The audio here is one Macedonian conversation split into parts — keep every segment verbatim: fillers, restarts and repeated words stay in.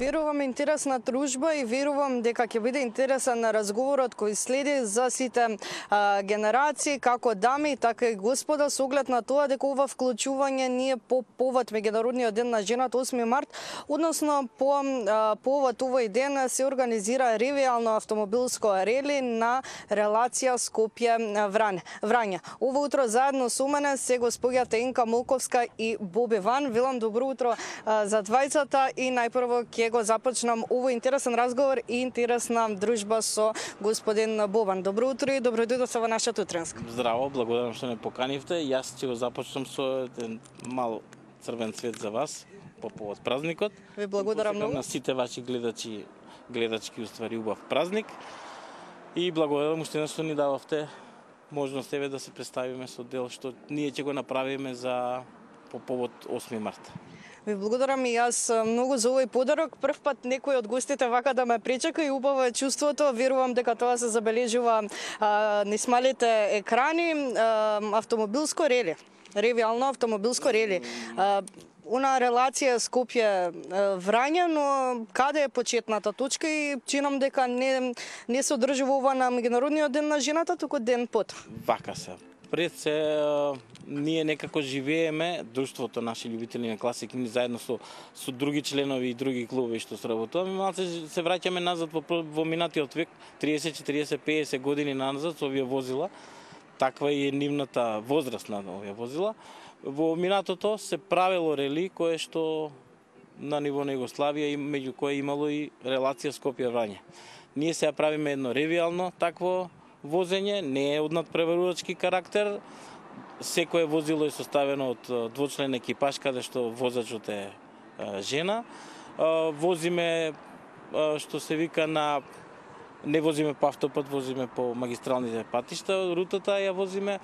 Верувам интересна дружба и верувам дека ќе биде интересен разговорот кој следи за сите а, генерации, како дами, така и господа, со оглед на тоа дека ова вклучување ние по повод Меѓународниот ден на жената осми март, односно по а, повод овој ден се организира ревијално автомобилско рели на релација Скопје-Врање. Ова утро заедно со мене се господјата Енка Молковска и Боби Ван. Велам добро утро а, за двајцата и најпрво ќе го започнам овој интересен разговор и интересна дружба со господин Бобан. Добро утро и добро дојдовте во нашата утренска. Здраво, благодарам што ме поканивте. Јас ќе го започнам со еден мал црвен цвет за вас по повод празникот. Ви благодарам многу. На сите ваши гледачи, гледачки уствари убав празник. И благодарам уште што ни дававте можност еве да се представиме со дел што ние ќе го направиме за по повод осми март. Ви благодарам и јас многу за овој подарок. Прв пат некој од гостите вака да ме пречека и убаво е чувството. Верувам дека тоа се забележува а, низ малите екрани. А, автомобилско рели, ревијално автомобилско рели. А, Она релација Скопје-Врање, но каде е почетната точка и чинам дека не, не се одржува ова на Меѓународниот ден на жената, туку ден пот. Вака се. Пред се, ние некако живееме, друштвото наши љубители на класик, ние заедно со, со други членови и други клубови што сработуваме, малце се враќаме назад во, во минатиот век, триесет, четириесет, петдесет години назад со овие возила. Таква е нивната возраст на овие возила. Во минатото се правело рели кое што на ниво на Југославија, меѓу кое имало и релација Скопје-Врање. Ние сега правиме едно ревијално такво возење, не е од надпреварувачки карактер. Секое возило е составено од двочлен екипаж, каде што возачот е жена. Возиме, што се вика, на не возиме по автопат, возиме по магистралните патишта, рутата ја возиме,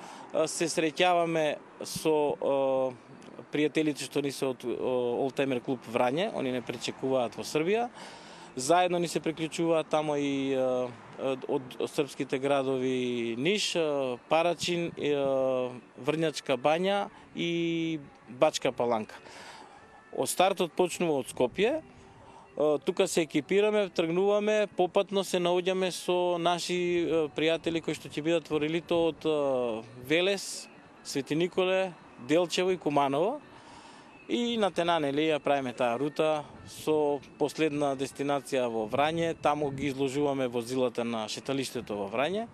се среќаваме со пријателите што ни се од Олтаймер клуб Врање, они не пречекуваат во Србија. Заедно ни се приклучуваат тамо и од српските градови Ниш, Парачин, Врњачка Бања и Бачка Паланка. Од стартот почнува од Скопје. Тука се екипираме, тргнуваме, попатно се наоѓаме со наши пријатели кои што ќе бидат во релито од Велес, Свети Николе, Делчево и Куманово. И на тена, нели, ја правиме таа рута со последна дестинација во Врање, таму ги изложуваме возилата на шеталиштето во Врање,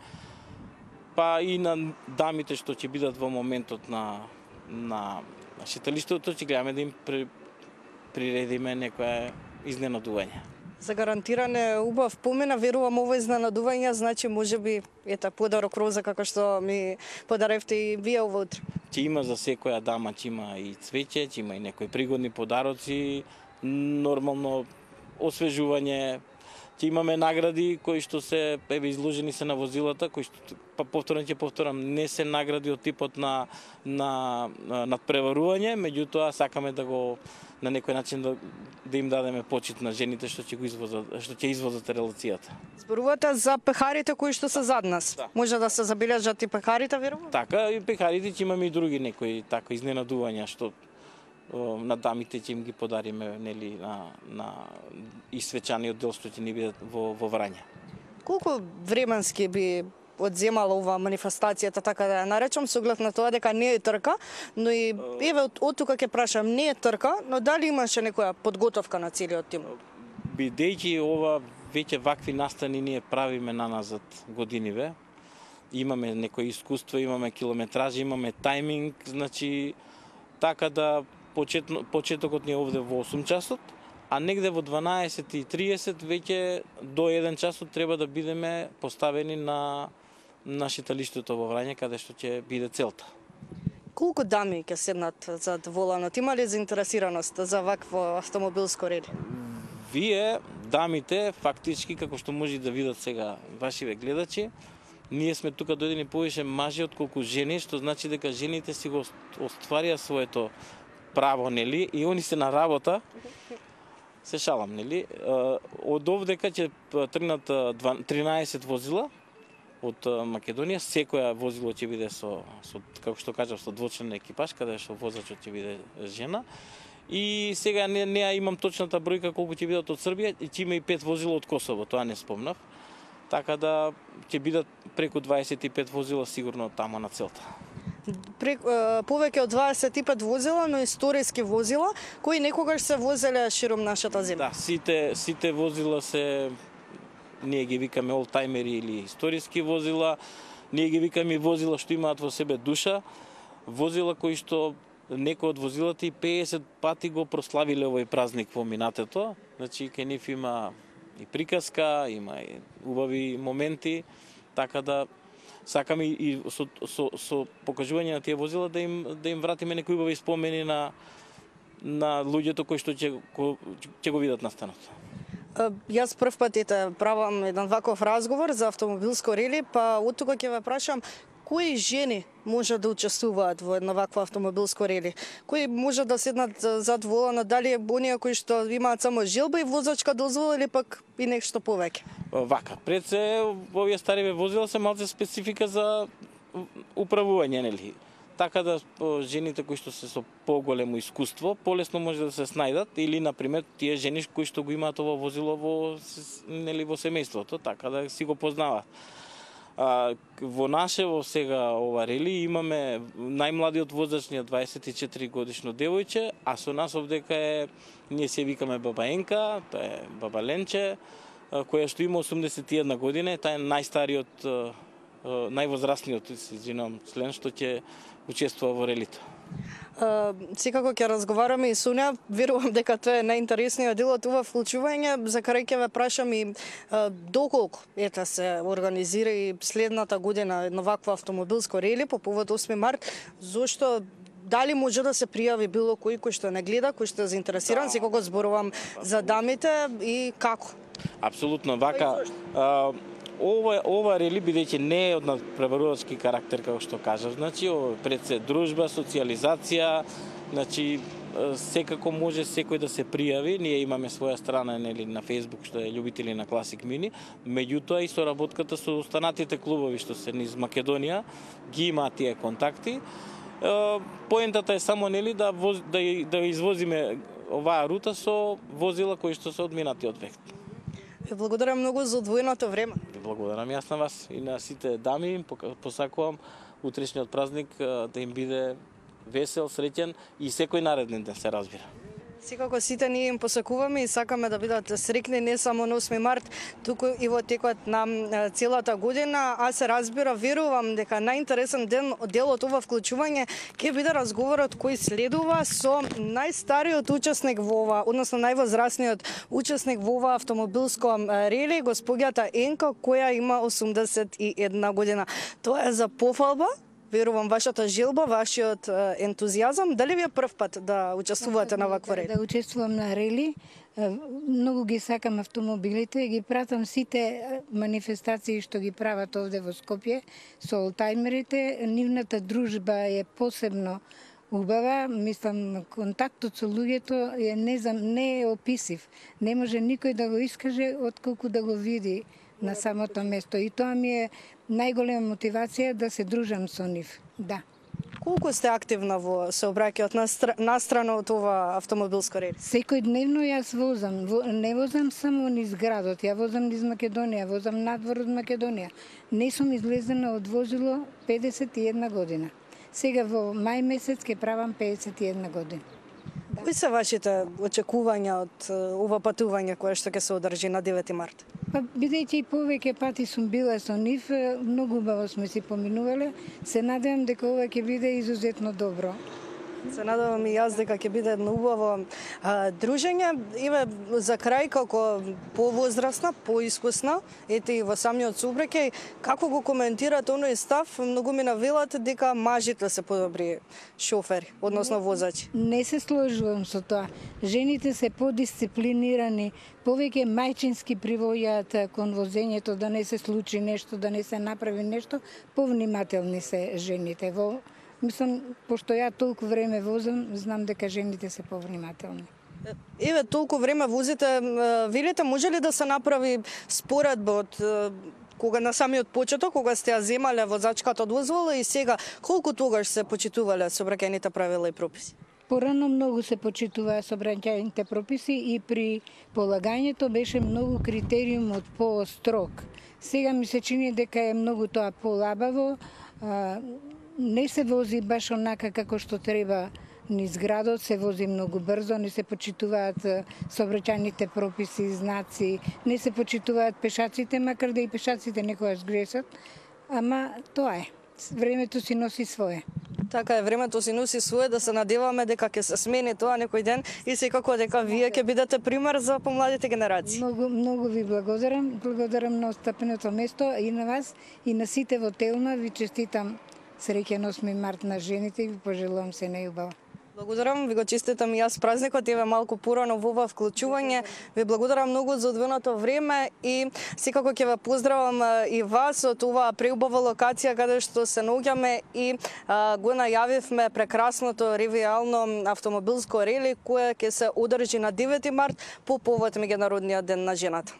па и на дамите што ќе бидат во моментот на, на шеталиштето, ќе гледаме да им при, приредиме некоја изненадување. За гарантиране убав помина, верувам ово изненадување, значи можеби ета подарок роза како што ми подаревте и вие ово утро. Ќе има за секоја дама, ќе има и цвеќе, ќе има и некои пригодни подароци, нормално освежување, ќе имаме награди кои што се еве изложени се на возилата, кои што па повторно ќе повторам, не се награди од типот на на надпреварување, меѓутоа сакаме да го на некој начин да, да им дадеме почит на жените што ќе го извозат, што ќе извозат релацијата. Зборувате за пехарите кои што се зад нас. Да. Може да се забележат и пехарите, верувам? Така, и пехарите ќе имаме и други некои така изненадувања што на дамите ќе им ги подариме, нели, на на и свечаниот дел што ќе ни бидат во во Врање. Колку временски би одземала ова манифестацијата, така да ја наречам, со оглед на тоа дека не е трка, но и еве од, од тука ќе прашам, не е трка, но дали имаше некоја подготовка на целиот тим? Бидејќи ова веќе вакви настани ние правиме наназад годиниве, имаме некои искуство, имаме километражи, имаме тајминг, значи така да почетно, почетокот ни е овде во осум часот, а негде во дванаесет и триесет веќе до еден часот треба да бидеме поставени на на шеталиштето во Врање, каде што ќе биде целта. Колку дами ќе седнат зад воланот? Има ли заинтересираност за вакво автомобилско рели? Вие, дамите, фактички, како што може да видат сега вашиве гледачи, ние сме тука дојдени повише мажи отколку жени, што значи дека жените си го остварија своето право, нели, и они се на работа. Се шалам, нели? Од овдека ќе тргнат тринаесет возила од Македонија, секоја возило ќе биде со, со како што кажав, со двочлен екипаж, каде што возачот ќе биде жена. И сега не, не ја имам точната бројка колку ќе бидат од Србија, и ќе има и пет возила од Косово, тоа не спомнав. Така да ќе бидат преку дваесет и пет возила сигурно тамо на целта. Прек, повеќе од дваесет и пет возила, но историски возила, кои некогаш се возеле широм нашата земја. Да, сите сите возила се, ние ги викаме олтајмери или историски возила, ние ги викаме возила што имаат во себе душа, возила кои што некои од возилата и пеесет пати го прославиле овој празник во минатото. Значи кај нив има и приказка, има и убави моменти, така да сакаме и со, со, со покажување на тие возила да им да им вратиме некои убави спомени на на луѓето кои што ќе ќе го видат настанот. Јас прв пат ете правам еден ваков разговор за автомобилско рели, па од тука ќе ве прашам кои жени може да учествуваат во една ваква автомобилско рели? Кои може да седнат зад волана, дали е оние кои што имаат само желба и возачка дозвола или пак и нешто повеќе? Вака, пред се овие стари возила се малце специфика за управување, нели? Така да жените кои што се со поголемо искуство, полесно може да се снајдат, или на пример тие жени кои што го имаат ова возило во нели во семејството, така да си го познаваат. А, во наше во сега ова рели имаме најмладиот воzač ни е дваесет и четири годишно девојче, а со нас овдека е, ние се викаме баба Енка, тоа е баба Ленче, која што има осумдесет и една година, таа е најстариот, највозрастниот, се извинувам, член што ќе учествува во релито. Uh, секако ќе разговараме и со неа, верувам дека тоа е најинтересниот дел од ова вклучување, за крај ќе ве прашам и uh, доколку ета се организира и следната година едно вакво автомобилско рели по повод осми март, зошто дали може да се пријави било кој кој што не гледа, кој што е заинтересиран, секако зборувам за дамите и како? Апсолутно, вака Ова, ова рели, бидејќи не е од надпреварувачки карактер, како што кажав, значи, пред се дружба, социализација, значи, секако може секој да се пријави. Ние имаме своја страна нели, на Facebook, што е љубители на Classic Mini, меѓутоа и соработката со останатите клубови што се низ Македонија, ги имаат тие контакти. Поентата е само нели да, воз, да, да извозиме оваа рута со возила кои што се одминати од век. Ви благодарам многу за одвоеното време. Ви благодарам јас на вас и на сите дами. Посакувам утрешниот празник да им биде весел, среќен и секој нареден ден се разбира. Секако сите ние им посакуваме и сакаме да бидат среќни не само на осми март, туку и во текот на целата година, а се разбира, верувам дека најинтересен ден дел од ова вклучување ќе биде разговорот кој следува со најстариот учесник во ова, односно највозрастниот учесник во ова автомобилско рели, госпоѓата Енка, која има осумдесет и една година. Тоа е за пофалба. Верувам вашата желба, вашиот ентузијазам. Дали ви е прв пат да учествувате на ваква рели? Да учествувам на рели. Многу ги сакам автомобилите, ги пратам сите манифестации што ги прават овде во Скопје со олтајмерите. Нивната дружба е посебно убава, мислам, контактот со луѓето е не, не е описив. Не може никој да го искаже отколку да го види на самото место. И тоа ми е најголема мотивација да се дружам со нив. Да. Колку сте активна во сообраќајот настрана од ова автомобилско рели? Секојдневно јас возам. Не возам само низ градот, ја возам низ Македонија, возам надвор од Македонија. Не сум излезена од возило педесет и една година. Сега во мај месец ќе правам педесет и една година. Да. Кои се вашите очекувања од ова патување кое што ќе се одржи на девети март? Па, бидејќи и повеќе пати сум била со нив, многу убаво сме си поминувале, се надевам дека ова ќе биде изузетно добро. Се надевам и јас дека ќе биде едно убаво а, дружење. Еве за крај, како повозрастна, поискусна, ете и во самиот сообраќај, како го коментирате оној став, многу ми навелате дека мажите се подобри шофери, односно возачи? Не се сложувам со тоа. Жените се подисциплинирани, повеќе мајчински привојаат кон возењето, да не се случи нешто, да не се направи нешто, повнимателни се жените. Во Мислам, пошто ја толку време возам, знам дека жените се повнимателни. Еве, толку време возите, велите, може ли да се направи споредба од кога на самиот почеток, кога сте ја земале возачката дозвола и сега, колку тогаш се почитувале сообраќајните правила и прописи? Порано многу се почитуваа сообраќајните прописи и при полагањето беше многу критериумот по-строг. Сега ми се чини дека е многу тоа полабаво, не се вози баш онака како што треба низ градот, се вози многу брзо, не се почитуваат сообраќајните прописи, знаци, не се почитуваат пешаците, макар да и пешаците некогаш грешат, ама тоа е. Времето си носи свое. Така е, времето си носи свое, да се надеваме дека ќе се смени тоа некој ден и секако дека вие ќе бидете пример за помладите генерации. Многу, многу ви благодарам. Благодарам на отстапеното место и на вас и на сите во Телма. Ви честитам среќен осми март на жените и ви пожелувам се најубаво. Благодарам, ви го честитам и јас празникот, еве малку порано во ова вклучување. Ви благодарам многу за одвоеното време и секако ќе ве поздравам и вас од оваа преубава локација каде што се наоѓаме и а, го најавивме прекрасното ревијално автомобилско рели кое ќе се одржи на девети март по повод Меѓународниот ден на жената.